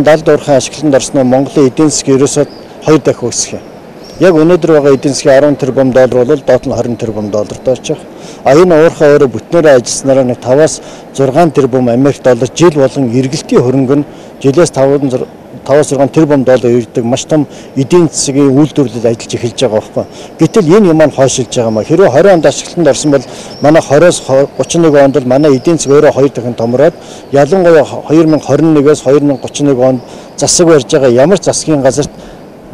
Далд уурхайн ашиглалтанд орсон Монголын эдийн засгийн ерөөсөө 2 дахин өсөх юм. Яг өнөөдөр байгаа эдийн засгийн 10 тэрбум доллар бол доод нь 20 тэрбум долларт очих. Энэ уурхай өөрөө бүтнээрээ ажилласнараа нэг 5-аас 6 тэрбум Америк доллар жил болгон эргэлтийн хөрөнгө нь жилээс 5-6 тэрбум доллар ирдэг маш том эдийн засгийн үйлдвэрлэл ажиллаж эхэлж байгаа байхгүй. Гэтэл энэ юм маань хойшилж байгаа маа. Хэрвээ 20 онд ашиглалтанд орсон бол манай 20-оос 31 онд бол манай эдийн засаг өөрөө 2 дахин томроод ялангуяа 2021-ээс 2031 онд засаг барьж байгаа ямар засгийн газарт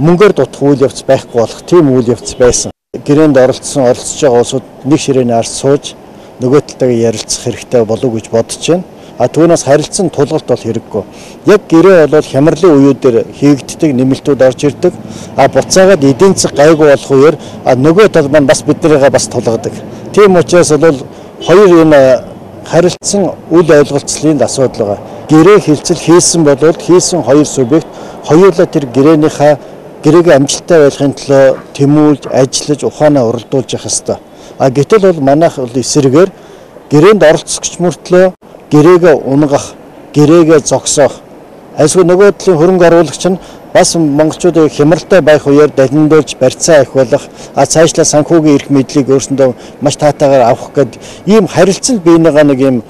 мөнгөөр дутах үйл явц байхгүй болох тийм үйл явц байсан. Гэрээнд оролцож байгаа улсууд нэг ширээний ард сууж нөгөө талтайгаа ярилцах хэрэгтэй болов уу гэж бодож байна. Түүнээс харилцан тулгалт бол хэрэггүй. Яг гэрээ бол хямралын үеүүдээр хийгддэг нэмэлтүүд орж ирдэг. Буцаагаад эдийн засаг гайгүй болох үеэр нөгөө тал маань бас биднийгээ бас тулгадаг. Тийм учраас бол хоёр энэ харилцсан үйл ойлголцлын асуудал байгаа. Гэрээ хилцэл хийсэн бол хийсэн хоёр субъект хоёулаа тэр гэрээгээ амжилттай байлгахын төлөө тэмүүлж, ажиллаж, ухаанаа уралдуулж явах ёстой. Гэтэл бол манайх бол эсрэгээр гэрээнд оролцогч мөртлөө гэрээгээ унгах, гэрээгээ зогсоох. Այսօр нөгөө талын хөрөнгө оруулагч нь бас монголчуудыг хямралтай байх үеэр далиндуулж барьцаа ахиулах, цаашлаа санхүүгийн эрх мэдлийг өөрсөндөө маш таатайгаар авах гэдэг ийм харилцал биенийгаа нэг ийм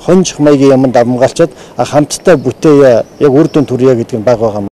хонжих маягийн юмд амгаалчаад хамтдаа бүтээе, яг үр дүн төрье гэдэг нь баг байгаа.